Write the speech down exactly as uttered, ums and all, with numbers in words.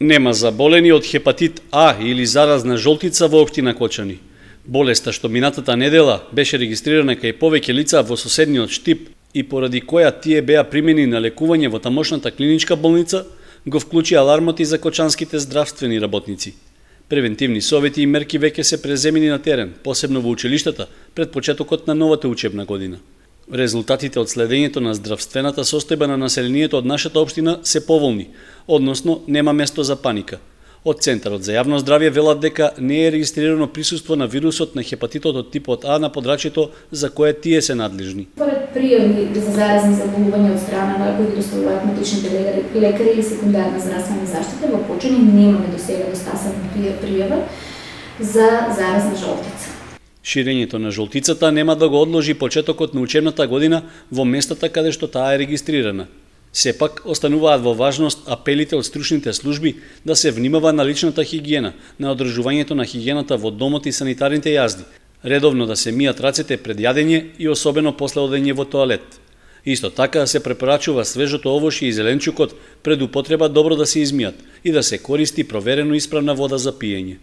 Нема заболени од хепатит А или заразна жолтица во општина Кочани. Болеста што минатата недела беше регистрирана кај повеќе лица во соседниот Штип и поради која тие беа примени на лекување во тамошната клиничка болница, го вклучи алармот и за кочанските здравствени работници. Превентивни совети и мерки веќе се преземени на терен, посебно во училиштата, пред почетокот на новата учебна година. Резултатите од следењето на здравствената состојба на населението од нашата општина се поволни, односно нема место за паника. Од Центарот за јавно здравје велат дека не е регистрирано присуство на вирусот на хепатитот од типот А на подрачјето за кое тие се надлежни. Според пријави за заразни заболувања од страна на кои доставуваат матичните лекари или секундарна здравствена заштита, во Кочани немаме до сега достасана пријава за заразна жолтица. Ширењето на жолтицата нема да го одложи почетокот на учебната година во местата каде што таа е регистрирана. Сепак, остануваат во важност апелите од стручните служби да се внимава на личната хигиена, на одржувањето на хигиената во домот и санитарните јазди, редовно да се мијат рацете пред јадење и особено после одење во тоалет. Исто така се препорачува свежото овошје и зеленчукот пред употреба добро да се измијат и да се користи проверено исправна вода за пиење.